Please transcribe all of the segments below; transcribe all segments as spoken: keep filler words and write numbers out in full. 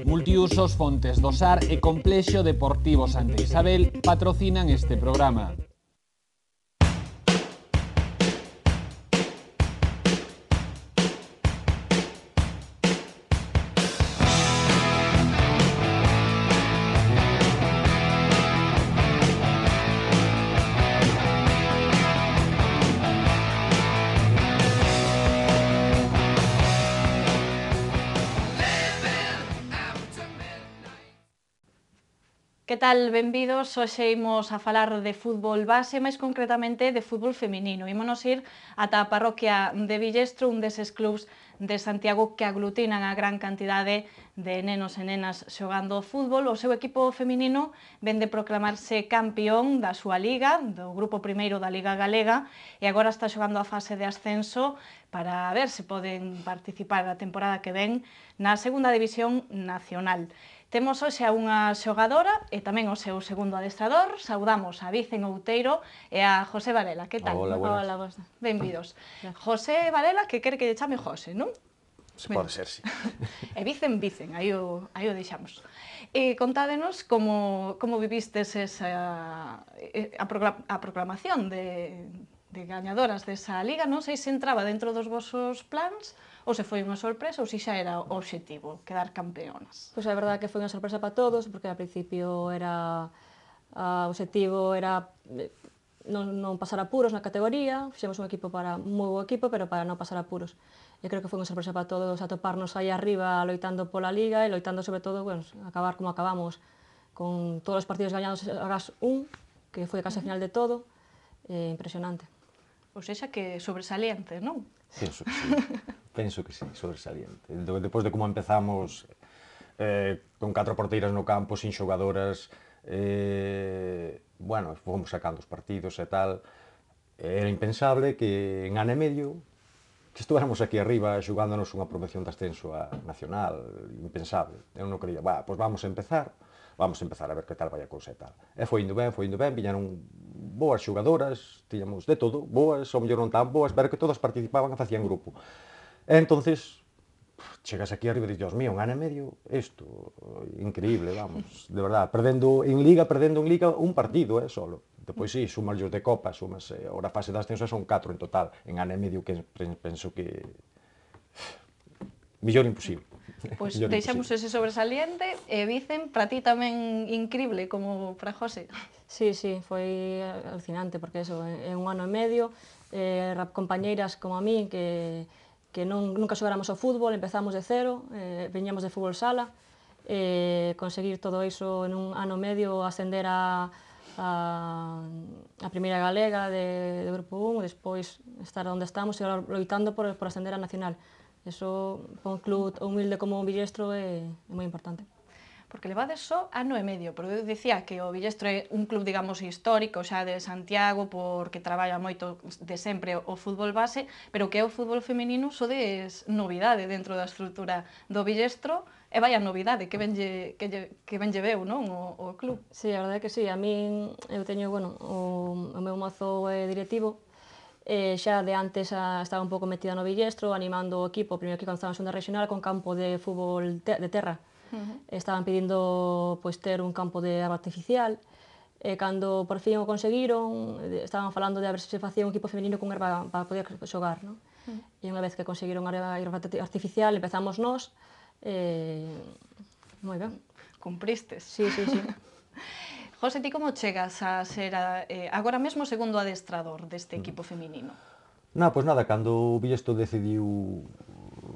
Multiusos, Fontes do Sar e Complexo Deportivo Santa Isabel patrocinan este programa. Que tal? Benvidos. Hoxe imos a falar de fútbol base, máis concretamente de fútbol feminino. Ímonos ir ata a parroquia de Villestro, un deses clubs de Santiago que aglutinan a gran cantidade de nenos e nenas xogando fútbol. O seu equipo feminino ven de proclamarse campeón da súa liga, do grupo primeiro da Liga Galega, e agora está xogando a fase de ascenso para ver se poden participar a temporada que ven na segunda división nacional. Temos hoxe a unha xogadora e tamén o seu segundo adestrador. Saudamos a Vicen Outeiro e a José Varela. Que tal? Hola, buenas. Hola, vos. Benvidos. José Varela, que quere que lle chame José, non? Se pode ser, sí. E Vicen, Vicen, aí o, aí o deixamos. E contádenos como, como vivistes esa, a, proclam, a proclamación de, de gañadoras desa liga. Non sei se entraba dentro dos vosos plans ou se foi unha sorpresa ou se xa era o obxectivo, quedar campeonas. Pois é verdade que foi unha sorpresa para todos, porque ao principio era o obxectivo era non, non pasar apuros na categoría, fixemos un equipo para un moi bo equipo, pero para non pasar apuros. E creo que foi unha sorpresa para todos atoparnos aí arriba loitando pola liga e loitando sobre todo, bueno, acabar como acabamos, con todos os partidos gañados agás un, que foi a case final de todo, eh, impresionante. Ou seja, que sobresaliente, non? Penso que sí, penso que sí, sobresaliente. Depois de como empezamos eh, con catro porteiras no campo, sin xogadoras, eh, bueno, fomos sacando os partidos e tal, era impensable que en ano e medio que estuvéramos aquí arriba xogándonos unha promoción de ascenso a nacional, impensable. Eu non creía, va, pois vamos a empezar, vamos a empezar a ver que tal vai a cousa e tal. E foi indo ben, foi indo ben, viñeron boas xogadoras, tiñamos de todo, boas, ou mellor non tan boas, pero que todas participaban e facían grupo. E entonces, chegas aquí arriba e dices, Dios mío, un ano e medio, isto, increíble, vamos, de verdad, perdendo en liga, perdendo en liga un partido, eh, solo. Depois sí, sumas os de Copa, sumas, eh, ahora a fase de ascenso son catro en total, en ano e medio que penso que millor imposible. Pois pues deixamos ese sobresaliente e Vicen, para ti tamén incrible como para José. Sí, sí, foi alucinante porque eso, é un ano e medio, eh, compañeiras como a mí que, que non, nunca xogáramos ao fútbol, empezamos de cero, eh, veñamos de fútbol sala, eh, conseguir todo iso en un ano e medio, ascender a a, a primeira galega de, de grupo un, e despois estar onde estamos e agora loitando por, por ascender a nacional. Eso, para un club humilde como o Villestro, é, é moi importante. Porque levades só ano e medio, pero eu dicía que o Villestro é un club, digamos, histórico xa de Santiago, porque traballa moito de sempre o fútbol base, pero que é o fútbol feminino sodes novidade dentro da estrutura do Villestro, e vai a novidade, que benlle, que, lle, que benlle veu, non, o, o club. Sí, a verdade é que sí, a min, eu teño, bueno, o, o meu mozo é directivo, e xa de antes a, estaba un pouco metida no Villestro, animando o equipo, primeiro que cando estaba en segunda regional, con campo de fútbol te, de terra. Uh-huh. Estaban pedindo pois, ter un campo de agua artificial, e cando por fin o conseguiron, estaban falando de a ver se se facía un equipo femenino con erva para poder xogar, non? Uh-huh. E unha vez que conseguiron a erva artificial, empezamos nós, e... moi ben. Cumpristes. Sí, sí, sí. José, ti como chegas a ser a, eh, agora mesmo segundo adestrador deste equipo feminino? Na, pois nada, cando o Villestro decidiu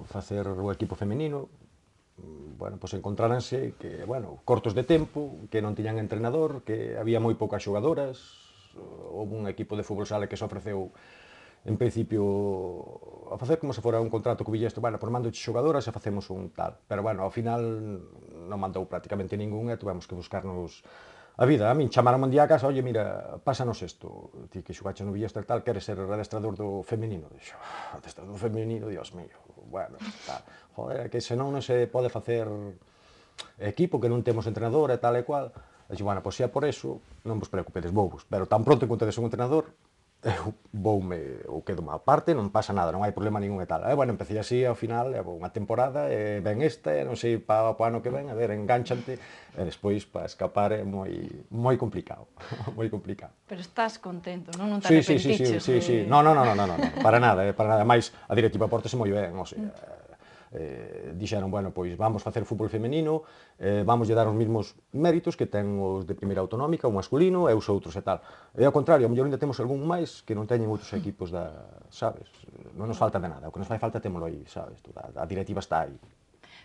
facer o equipo feminino, bueno, pois encontráranse que, bueno, cortos de tempo, que non tiñan entrenador, que había moi poucas xogadoras, houve un equipo de fútbol sala que se ofreceu en principio a facer como se fora un contrato co Villestro, bueno, por mando de xogadoras e facemos un tal, pero bueno, ao final non mandou prácticamente ningún e tuvemos que buscarnos a vida. A min chamaron un día a casa, oye, mira, pásanos isto, ti que xogache no Villestro e tal, queres ser adestrador do femenino? Dixo, adestrador do femenino, Dios mío, bueno, tal, joder, que senón non se pode facer equipo, que non temos entrenador e tal e cual. E dixo, bueno, pois xa por eso, non vos preocupedes, vou vos, pero tan pronto encontredes un entrenador, eu voume, ou quedo má parte, non pasa nada, non hai problema ningún e tal. E, bueno, empecé así, ao final, levo unha temporada, e ven esta, e non sei, pa o ano que ven, a ver, engánchante, e despois, para escapar, é moi, moi complicado, moi complicado. Pero estás contento, non? Non te Sí, sí, sí, sí, arrepentiches sí, sí. No, no, no, no, no, no, para nada, eh, para nada. Mais a directiva pórtase moi ben, o sea, eh, dixeron, bueno, pois vamos facer fútbol femenino, eh, vamos lle dar os mesmos méritos que ten os de primeira autonómica, o masculino e os outros e tal. E ao contrario, a mellor ainda temos algún máis que non teñen outros equipos da, sabes? Non nos falta de nada, o que nos fai falta témolo aí, sabes? A, a directiva está aí.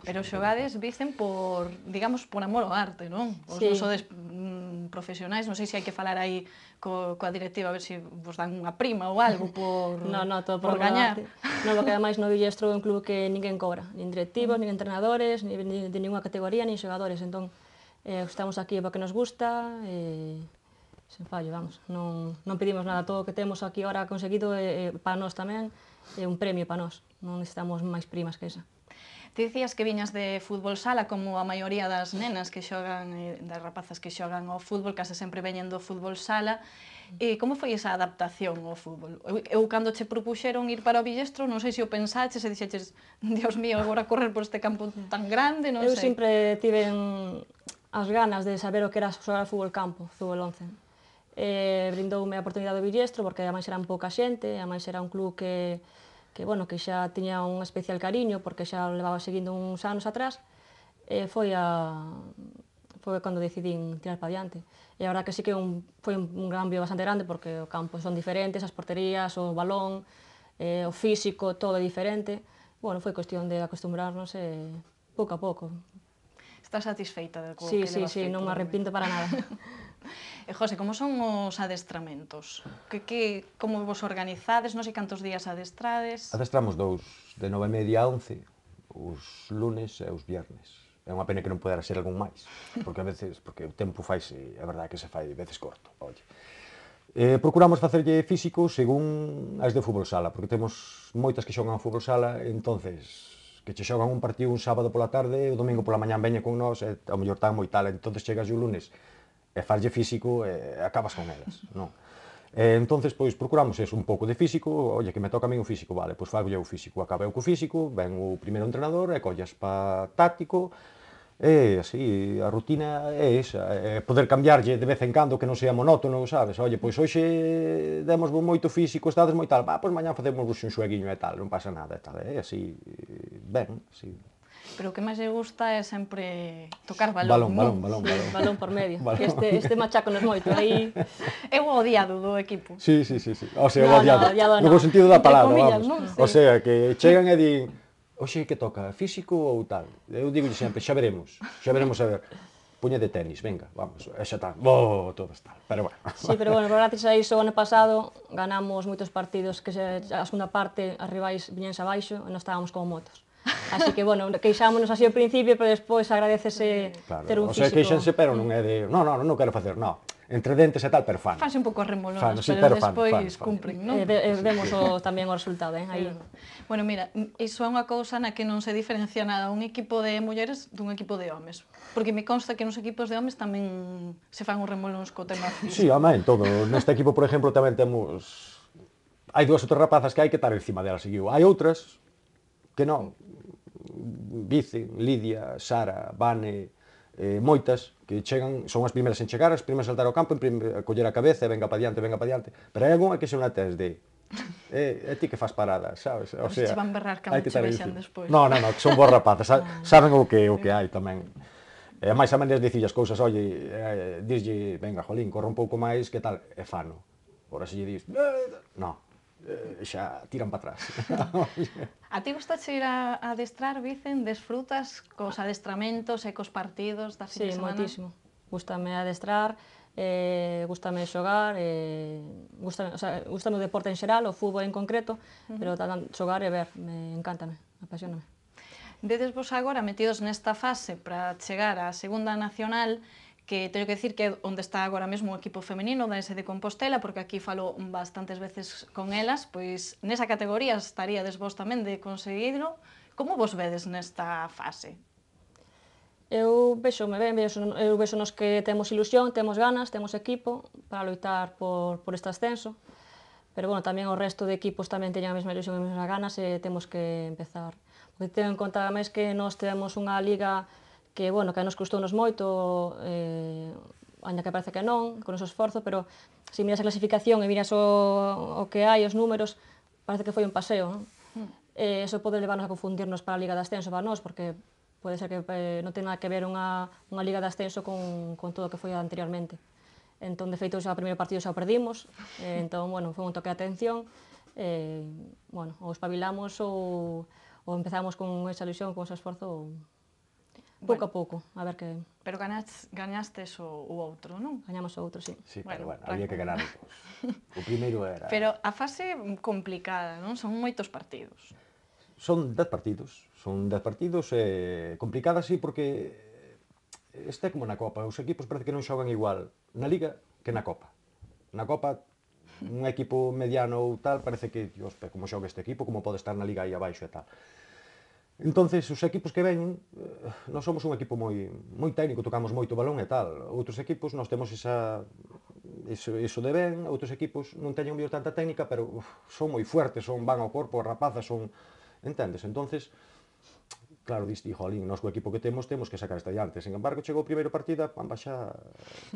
Pero xogades, dicen, por, digamos, por amor ao arte, non? Os Sí. non sodes mm, profesionais, non sei se hai que falar aí co, coa directiva, a ver se vos dan unha prima ou algo por, No, no, todo por por gañar. No, porque ademais no Villestro é un club que ninguén cobra, nin directivos, nin entrenadores, nin ni de ninguna categoría, nin xogadores, entón eh, estamos aquí porque nos gusta e sen fallo, vamos, non, non pedimos nada, todo o que temos aquí ahora conseguido é, é para nós tamén, é un premio para nós, non necesitamos máis primas que esa. Ti dicías que viñas de fútbol sala, como a maioría das nenas que xogan, eh, das rapazas que xogan ao fútbol, case sempre veñen do fútbol sala. E como foi esa adaptación ao fútbol? Eu, eu cando che propuxeron ir para o Villestro, non sei se o pensaches e dixeches, Dios mío, agora correr por este campo tan grande, non Eu sei. sempre tiven as ganas de saber o que era xogar ao fútbol campo, fútbol once. Eh, brindoume a oportunidade do Villestro, porque ademais era un pouca xente, ademais era un club que que, bueno, que xa tiña un especial cariño, porque xa o levaba seguindo uns anos atrás, e foi a foi cando decidín tirar para diante. E a verdad que sí que un, foi un, un cambio bastante grande, porque o campo son diferentes, as porterías, o balón, eh, o físico, todo é diferente. Bueno, foi cuestión de acostumbrarnos e pouco a pouco. Estás satisfeita de co Sí, que sí, levas sí, feito, non me de arrepinto para nada. E, José, como son os adestramentos? Que, que, como vos organizades? Non sei cantos días adestrades? Adestramos dous, de nove e media a once, os lunes e os viernes. É unha pena que non podera ser algún máis, porque a veces, porque o tempo faise, é verdade que se fai veces corto, oye. Eh, procuramos facerlle físico según as de fútbol sala, porque temos moitas que xogan a fútbol sala, entonces que che xogan un partido un sábado pola tarde, o domingo pola mañán veña con nós, e ao mellor tan moi tal, entonces chegas o lunes e farlle físico e acabas con elas, non? E, entonces, pois, procuramos eso, un pouco de físico, oye, que me toca a mí o físico, vale, pois fago o físico, acaba eu co físico, ven o primeiro entrenador e collas pa táctico, e así, a rutina é esa, é poder cambiarlle de vez en cando que non sea monótono, sabes? Oye, pois hoxe demos moito físico, estades moi tal, va, pois mañá facemos un xueguiño e tal, non pasa nada e tal, é así, ben, así. Pero o que máis lle gusta é sempre tocar balón, Balón, non? balón, balón, Sí, balón. balón por medio. Balón. Este, este macháconos moito, aí... É o odiado do equipo. Sí, sí, sí, sí. O sea, No, no, odiado, odiado no bo no. sentido da Entre palabra, comillas, vamos. non? O Sí. sea, que chegan e din, oxe, que toca, físico ou tal? Eu digo sempre, xa veremos, xa veremos a ver. Puña de tenis, venga, vamos, e xa está, oh, todo está, pero bueno. Sí, pero bueno, gracias a iso, o ano pasado, ganamos moitos partidos que se, a segunda parte, as rivais viñense abaixo e nós estábamos como motos. Así que, bueno, queixámonos así ao principio, pero despois agradecese Claro, ter un o sea, físico... queixense, pero non é de, no, no, non quero facer, no. Entre dentes e tal, pero fan. Fanse un pouco remolonas, Fan, sí, pero, pero fan, despois fan, fan. cumpren, non? E, ve, e vemos o, tamén o resultado, eh, aí. Bueno, mira, iso é unha cousa na que non se diferencia nada un equipo de mulleres dun equipo de homes. Porque me consta que nos equipos de homes tamén se fan os remolóns co tema físico. Sí, home, en todo. Neste equipo, por exemplo, tamén temos... Hai dúas outras rapazas que hai que estar encima delas, seguiu. Hai outras que non. Vice, Lidia, Sara, Vane, eh, moitas, que chegan, son as primeiras en chegar, as primeiras a saltar ao campo, en primeira, a coller a cabeza, e venga pa diante, venga pa diante. Pero hai algunha que se unha tes de... É, é ti que faz parada, sabes? O se sea, van berrar cando hai que che estar aí vexan encima. despois. No, no, no, que son boas rapazas, sa- saben o que o que hai tamén. E máis a maneira de dicir as cousas, oye, eh, dislle, venga, jolín, corre un pouco máis, que tal, é fano. Ora se lle dis, eh, no, eh, xa tiran para atrás. A ti gustache ir a, a adestrar, Vicen, desfrutas cos adestramentos e cos partidos da fin Sí, de semana? moitísimo. Gústame adestrar, eh, gústame xogar, eh, gústame, o sea, gústame o deporte en xeral, o fútbol en concreto, uh -huh. pero tamén xogar e ver, me encántame, apasioname. Vedes vos agora metidos nesta fase para chegar á segunda nacional, que teño que dicir que é onde está agora mesmo o equipo femenino da ese de Compostela, porque aquí falo bastantes veces con elas, pois nesa categoría estaríades vos tamén de conseguirlo. Como vos vedes nesta fase? Eu vexome ben, vexo, eu vexo nos que temos ilusión, temos ganas, temos equipo para loitar por, por este ascenso, pero bueno, tamén o resto de equipos tamén teñen a mesma ilusión e as mesmas ganas e temos que empezar. Porque ten en conta máis que nós temos unha liga que, bueno, que nos custounos moito, eh, ainda que parece que non, con o noso esforzo, pero se miras a clasificación e miras o, o que hai, os números, parece que foi un paseo, non? Mm. Eh, eso pode levarnos a confundirnos para a Liga de Ascenso para nós, porque pode ser que eh, non ten nada que ver unha, unha Liga de Ascenso con, con todo o que foi anteriormente. Entón, de feito, xa o primeiro partido xa o perdimos, eh, entón, bueno, foi un toque de atención, eh, bueno, ou espabilamos ou, ou empezamos con esa ilusión, con ese esforzo, pouco bueno, a pouco, a ver que... Pero ganas, gañastes o, o outro, non? Gañamos o outro, sí. Sí, pero bueno, bueno había que ganar os dos. O primeiro era... Pero a fase complicada, non? Son moitos partidos. Son dez partidos, son dez partidos, eh, complicadas, sí, porque este é como na Copa, os equipos parece que non xogan igual na Liga que na Copa. Na Copa, un equipo mediano ou tal, parece que, dios, como xoga este equipo, como pode estar na Liga aí abaixo e tal. Entonces, os equipos que veñen, nós somos un equipo moi, moi técnico, tocamos moito balón e tal. Outros equipos, nós temos esa, iso, iso de ben, outros equipos non teñen mellor tanta técnica, pero uf, son moi fuertes, son van ao corpo, as rapazas son... Entendes? Entonces, claro, diste, jolín, nós co equipo que temos, temos que sacar esta diante. Sen embargo, chegou o primeiro partida, pamba xa,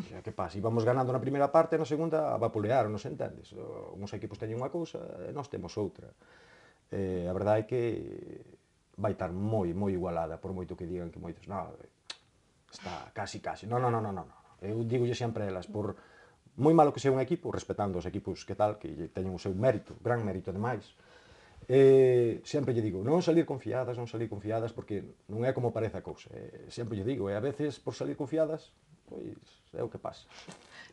xa que pasa, íbamos ganando na primeira parte, na segunda vapulearon, non se entendes? Uns equipos teñen unha cousa, e nós temos outra. Eh, a verdade é que vai estar moi, moi igualada, por moito que digan que moitos, non, está casi, casi. Non, non, non, non, non. Eu digolle sempre a elas, por moi malo que sea un equipo, respetando os equipos que tal, que teñen o seu mérito, gran mérito ademais, Eh, sempre lle digo, non salir confiadas, non salir confiadas, porque non é como parece a cousa. Eh, sempre lle digo, e a veces por salir confiadas, pois é o que pasa.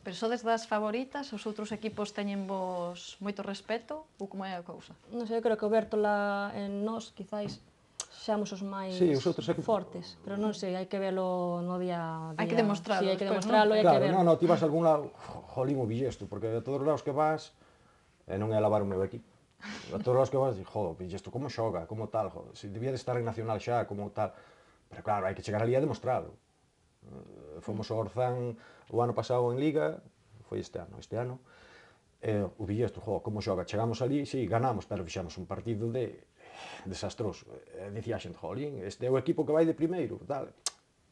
Pero sodes das favoritas, os outros equipos teñen vos moito respeto, ou como é a cousa? Non sei, eu creo que o Bértola en nós, quizáis, xamos os máis sí, os outros equipos... fortes, pero non sei, hai que velo no día a día. Hai que demostralo. Sí, hai que después, demostralo, ¿no? hai claro, que ver. non, non, ti vas a algún lado, jolín o Villesto, porque a todos os lados que vas, e non é lavar o meu equipo. A todos os que vas, joder, Villesto, como xoga, como tal, joder, se debía de estar en Nacional xa, como tal. Pero claro, hai que chegar ali a demostrado. Fomos ao Orzán o ano pasado en Liga, foi este ano, este ano, e o Villesto, joder, como xoga, chegamos ali, sí, ganamos, pero fixamos un partido de desastroso. E dicía a xente, jolín, este é o equipo que vai de primeiro, tal.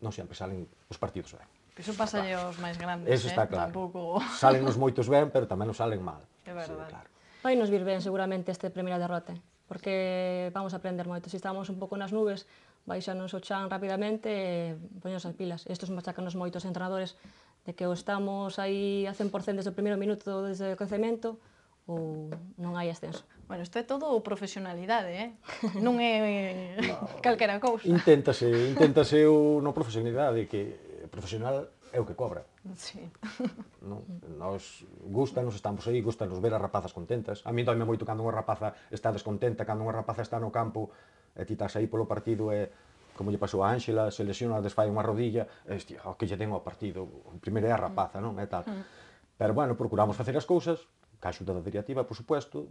Non sempre salen os partidos ben. Iso pasa claro. Os máis grandes, Eso está eh? claro. Tampouco... Salen os moitos ben, pero tamén nos salen mal. É verdade. Sí, claro. Vai nos vir ben seguramente este primeira derrota, porque vamos a aprender moito. Se estamos un pouco nas nubes, baixanos o chan rapidamente e poñemos as pilas. Estos machacanos moitos entrenadores de que o estamos aí a cen por cento desde o primeiro minuto desde o crecemento ou non hai ascenso. Bueno, isto é todo profesionalidade, eh? Non é no, calquera cousa. Inténtase, inténtase o no profesionalidade, que profesional é o que cobra. Sí. Non? Nos gusta, nos estamos aí, gusta nos ver as rapazas contentas. A mí doime moito cando unha rapaza está descontenta, cando unha rapaza está no campo e ti estás aí polo partido e como lle pasou a Ángela, se lesiona, desfai unha rodilla, e hostia, o que lle den ao partido, o primeiro é a rapaza, non? E tal. Pero bueno, procuramos facer as cousas, ca axuda da directiva, por supuesto,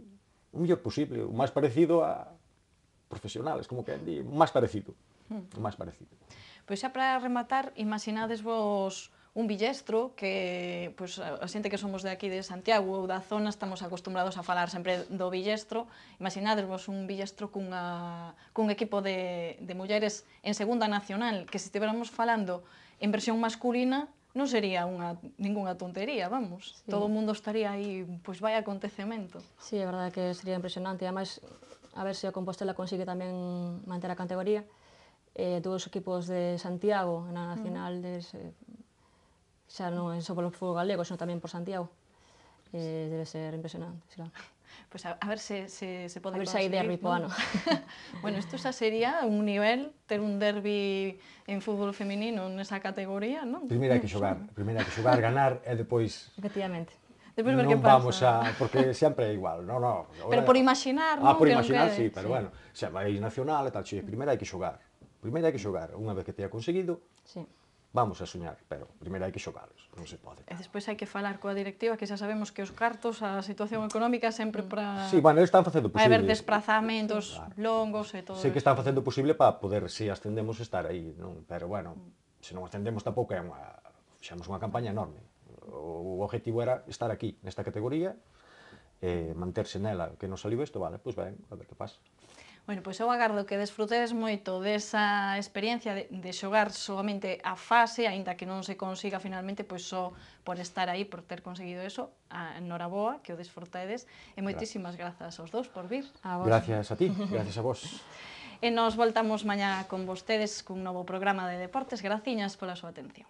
o mellor posible, o máis parecido a profesionales, como que di, o máis parecido, o máis parecido. Pois xa para rematar, imaginades vos un Villestro que, pois, a xente que somos de aquí de Santiago ou da zona estamos acostumbrados a falar sempre do Villestro. Imaginades vos un Villestro cunha, cun equipo de, de mulleres en segunda nacional, que se estiveramos falando en versión masculina non sería unha, ninguna tontería, vamos. Sí. Todo o mundo estaría aí, pois vai acontecemento. Sí, é verdade que sería impresionante. Ademais, a ver se a Compostela consigue tamén manter a categoría. Eh, todos os equipos de Santiago na nacional, mm. des, eh, xa non é só polo fútbol galego, senón tamén por Santiago. Eh, debe ser impresionante, claro. Pois pues a, a ver se, se, se pode conseguir. A ver se hai derbi po ano. Bueno, isto xa sería un nivel, ter un derbi en fútbol feminino nesa categoría, non? Primeiro hai que xogar, primeiro hai que xogar, ganar e depois... Efectivamente. Depois ver non que pasa. Vamos a... porque sempre é igual, non, non. Pero por imaginar, Ah, non? por que imaginar, que... sí, pero sí. Bueno, xa vai nacional e tal, xe, primeiro hai que xogar. Primeiro hai que xogar, unha vez que te ha conseguido, sí. Vamos a soñar, pero primeiro hai que xogalos, non se pode. E despois hai que falar coa directiva, que xa sabemos que os cartos, a situación económica sempre para... Sí, bueno, eles están facendo posible. Vai haber desplazamentos claro. longos e todo. Sei que están facendo posible para poder, se ascendemos, estar aí, non? Pero bueno, se non ascendemos tampouco é unha... Fixamos unha campaña enorme. O objetivo era estar aquí, nesta categoría, e manterse nela, que non saliu isto, vale, pois ben, a ver que pasa. Bueno, pois eu agardo que desfrutedes moito desa experiencia de, de xogar solamente a fase, aínda que non se consiga finalmente, pois só por estar aí, por ter conseguido eso, a noraboa, que o desfrutedes, e moitísimas grazas aos dous por vir. A vos. Gracias a ti, gracias a vos. E nos voltamos mañá con vostedes cun novo programa de deportes. Graciñas pola súa atención.